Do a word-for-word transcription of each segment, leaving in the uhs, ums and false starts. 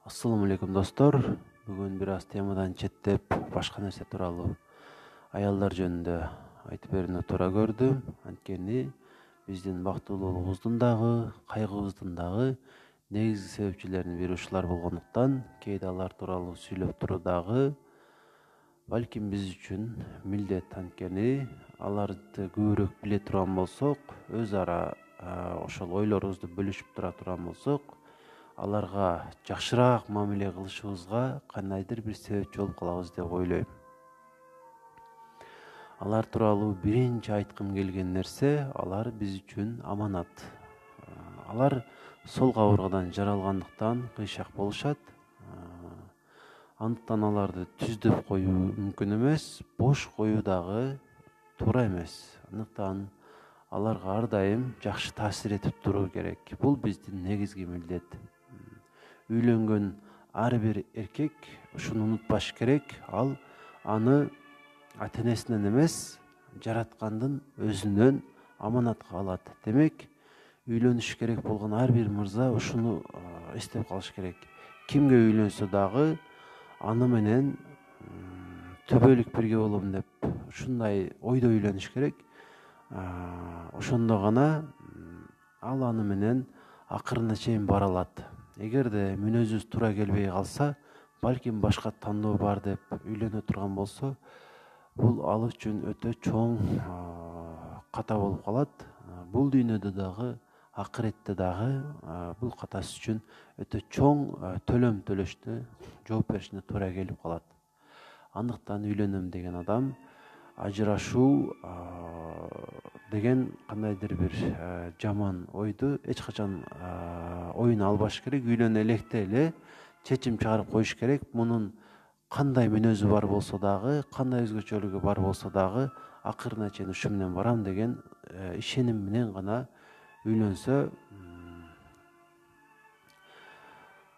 Assalamu alaikum достор. Бүгүн бир аз темадан четтеп, башка нерсе тууралуу аялдар жөнүндө айтып берүүнү туура көрдүм. Анткени биздин бактылуулугубуздун дагы, кайгыбыздын дагы негизги себепчилеринин бири ушулар болгондуктан, кээде алар тууралуу сүйлөп туруу дагы балким биз үчүн милдет. Анткени аларды көбүрөөк биле турган болсок, өз ара ошол ойлорубузду бөлүшүп тура турган болсок, аларга жакшыраак мамиле кылышыбызга кандайдыр бир себепчи болуп калабыз деп ойлойм. Алар тууралуу биринчи айткым келген нерсе, алар биз үчүн аманат. Алар сол кабыргадан жаралгандыктан кыйшак болушат. Андыктан аларды түздөп коюу мүмкүн эмес, бош коюу дагы туура эмес. Андыктан аларга ар дайым жакшы таасир этип туруу керек. Бул биздин негизги милдет. Үйлөнгөн ар бир эркек ушуну унутпаш керек. Ал аны ата-энесинен эмес, жараткандын өзүнөн аманатка алат. Демек, үйлөнүш керек болгон ар бир мырза ушуну эстеп калыш керек. Кимге үйлөнсө дагы аны менен түбөлүк бирге болом деп ушундай ойдо үйлөнүш керек. Ошондо гана ал аны менен акырына чейин бара алат. Эгерде мүнөзүбүз туура келбей калса, балким башка тандоо бар деп үйлөнө турган болсо, бул ал үчүн өтө чоң ката болуп калат. Бул дүйнөдө дагы, акыретте дагы бул катасы үчүн өтө чоң төлөм төлөштү, жооп беришине туура келип калат. Андыктан үйлөнөм деген адам ажырашуу деген кандайдыр бир жаман ойду эч качан оюна албаш керек. Үйлөнө электе эле чечим чыгарып коюш керек. Мунун кандай мүнөзү бар болсо дагы, кандай өзгөчөлүгү бар болсо дагы, акырына чейин ушу менен барам деген ишеним менен гана үйлөнсө,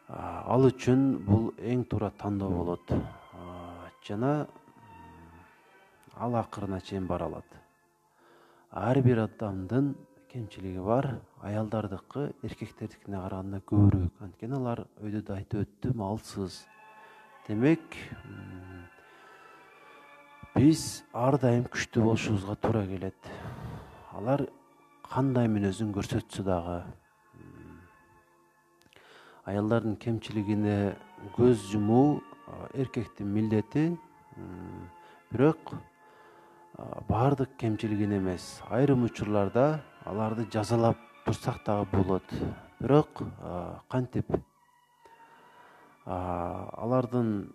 ал үчүн бул эң туура тандоо болот. Жана ал акырына чейин бара алат. Ар бир адамдын кемчилиги бар. Аялдардыкы эркектердикине караганда көбүрөөк. Анткени алар өйдө да айтып өттүм, алсыз. Демек, биз ар дайым күчтүү болушубузга туура келет. Алар кандай мүнөзүн көрсөтсө дагы, аялдардын кемчилигине көз жумуу эркектин милдети. Бирок баардык кемчилигин эмес, айрым учурларда аларды жазалап турсак дагы болот. Бирок кантип алардын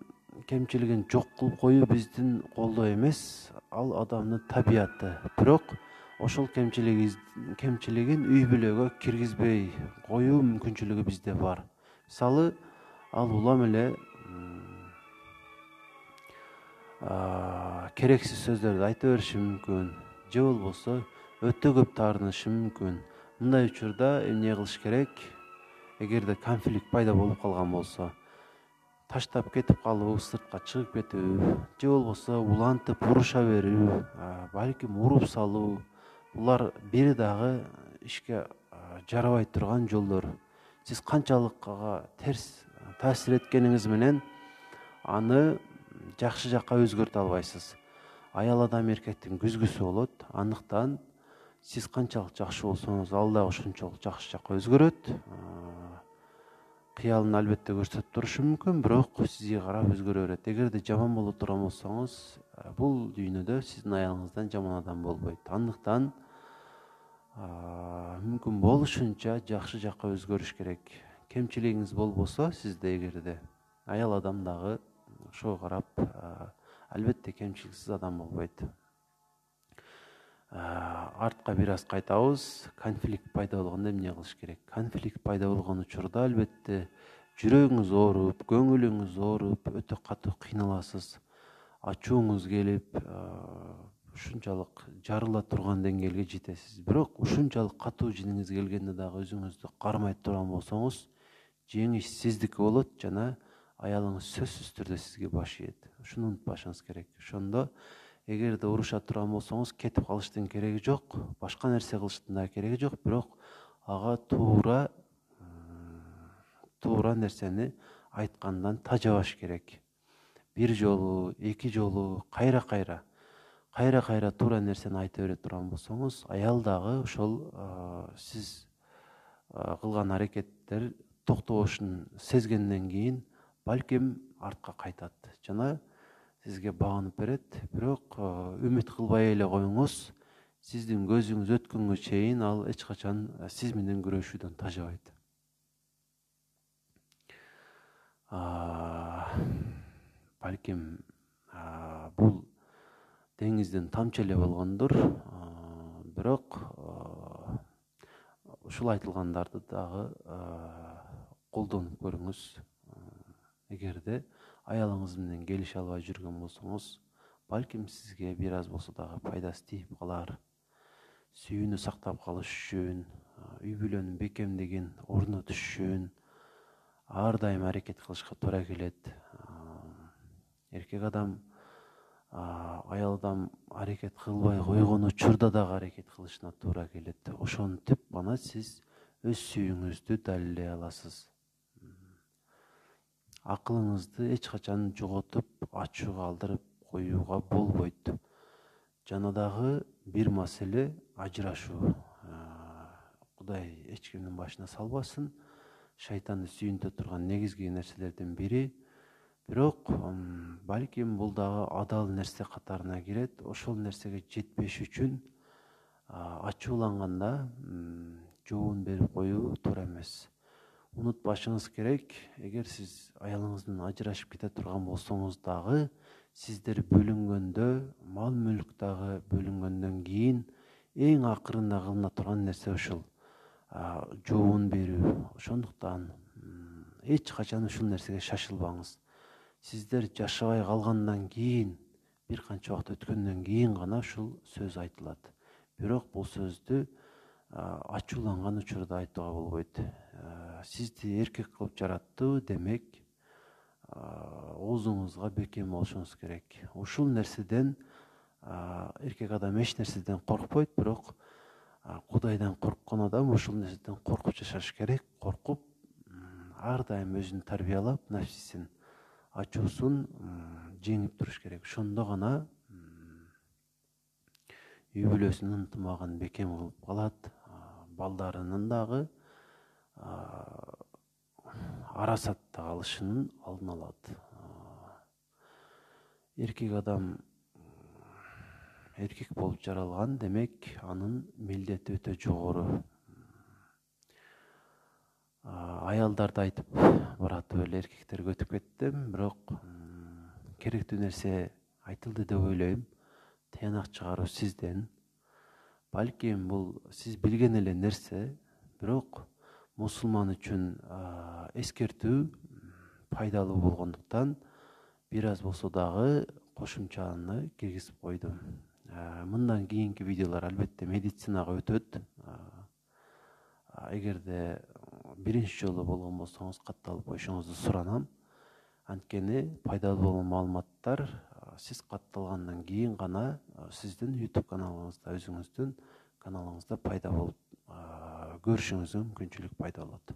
кемчилигин жок кылып коюу биздин колдо эмес, ал адамдын табияты. Бирок ошол кемчилигин үй бүлөгө киргизбей коюу мүмкүнчүлүгү бизде бар. Мисалы, ал улам эле керексиз сөздөрдү айта бериши мүмкүн, же болбосо өтө көп таарынышы мүмкүн. Мындай учурда эмне кылыш керек? Эгерде конфликт пайда болуп калган болсо, таштап кетип калуу, сыртка чыгып кетүү, же болбосо улантып уруша берүү, балким уруп салуу, булар бир дагы ишке жарабай турган жолдор. Сиз канчалык ага терс таасир эткениңиз менен аны жакшы жакка өзгөртө албайсыз. Аял адам эркектин күзгүсү болот. Андыктан сиз канчалык жакшы болсоңуз, ал дагы ошончолук жакшы жакка өзгөрөт. Кыялын албетте көрсөтүп турушу мүмкүн, бирок сизге карап өзгөрө берет. Эгерде жаман боло турган болсоңуз, бул дүйнөдө сиздин аялыңыздан жаман адам болбойт. Андыктан мүмкүн болушунча жакшы жакка өзгөрүш керек. Кемчилигиңиз болбосо, сизде эгерде, аял адам дагы ошого карап албетте кемчиликсиз адам болбойт. Артка бир аз кайтабыз. Конфликт пайда болгондо эмне кылыш керек? Конфликт пайда болгон учурда албетте жүрөгүңүз ооруп, көңүлүңүз ооруп, өтө катуу кыйналасыз. Ачууңуз келип, ушунчалык жарыла турган деңгээлге жетесиз. Бирок ушунчалык катуу жиниңиз келгенде дагы өзүңүздү кармай турган болсоңуз, жеңиш сиздики болот жана аялыңыз сөзсүз түрдө сизге баш ийет. Ушуну унутпашыңыз керек. Ошондо эгерде уруша турган болсоңуз, кетип калыштын кереги жок, башка нерсе кылыштын да кереги жок, бирок ага туура туура нерсени айткандан тажабаш керек. Бир жолу, эки жолу, кайра кайра кайра кайра туура нерсени айта бере турган болсоңуз, аял дагы ошол сиз кылган аракеттер токтобошун сезгенден кийин балким артка кайтат жана сизге багынып берет. Бирок үмүт кылбай эле коюңуз, сиздин көзүңүз өткөнгө чейин ал эч качан сиз менен күрөшүүдөн тажабайт. Балким бул деңиздин тамчы эле болгондур, бирок ушул айтылгандарды дагы колдонуп көрүңүз. Эгерде аялыңыз менен келише албай жүргөн болсоңуз, балким сизге бир аз болсо дагы пайдасы тийип калар. Сүйүүнү сактап калыш үчүн, үй бүлөнүн бекемдигин орнотуш үчүн ар дайым аракет кылышка туура келет. Эркек адам аялдан аракет кылбай койгон учурда дагы аракет кылышына туура келет. Ошентип гана сиз өз сүйүүңүздү далилдей аласыз. Акылыңызды эч качан жоготуп, ачууга алдырып коюуга болбойт. Жана дагы бир маселе ажырашуу. Кудай эч кимдин башына салбасын. Шайтанды сүйүнтө турган негизги нерселердин бири. Бирок балким бул дагы адал нерсе катарына кирет. Ошол нерсеге жетпеш үчүн ачууланганда жообун берип коюу туура эмес. Унутпашыңыз керек, эгер сиз аялыңыздан ажырашып кете турган болсоңуз дагы, сиздер бөлүнгөндө, мал мүлк дагы бөлүнгөндөн кийин эң акырында кылына турган нерсе ушул жообун берүү. Ошондуктан эч качан ушул нерсеге шашылбаңыз. Сиздер жашабай калгандан кийин, бир канча убакыт өткөндөн кийин гана ушул сөз айтылат. Бирок бул сөздү ачууланган учурда айтууга болбойт. Сизди эркек кылып жараттı, демек оозуңузга бекем болушуңуз керек. Ушул нерседен эркек адам эч нерседен коркпойт, бирок Кудайдан корккон адам ушул нерседен коркуп жашаш керек. Коркуп, ар дайым өзүн тарбиялап, нафсисин, ачуусун жеңип туруш керек. Ошондо гана үй бүлөсүнүн ынтымагын бекем кылып калат, балдарынын дагы арасатта калышынын алдын алат. Эркек адам эркек болуп жаралган, демек анын милдети өтө жогору. Аялдарды айтып баратып эле эркектерге өтүп кеттим, бирок керектүү нерсе айтылды деп ойлойм. Тыянак чыгаруу сизден. Балким бул сиз билген эле нерсе, бирок мусулман үчүн эскертүү пайдалуу болгондуктан бир аз болсо дагы кошумчаны киргизип койдум. Мындан кийинки видеолор албетте медицинага өтөт. Эгерде биринчи жолу болгон болсоңуз катталып коюшуңузду суранам. Анткени пайдалуу болгон маалыматтар сиз катталгандан кийин гана сиздин YouTube каналыңызда, өзүңүздүн каналыңызда пайда болуп көрүшүңүзгө мүмкүнчүлүк пайда болот.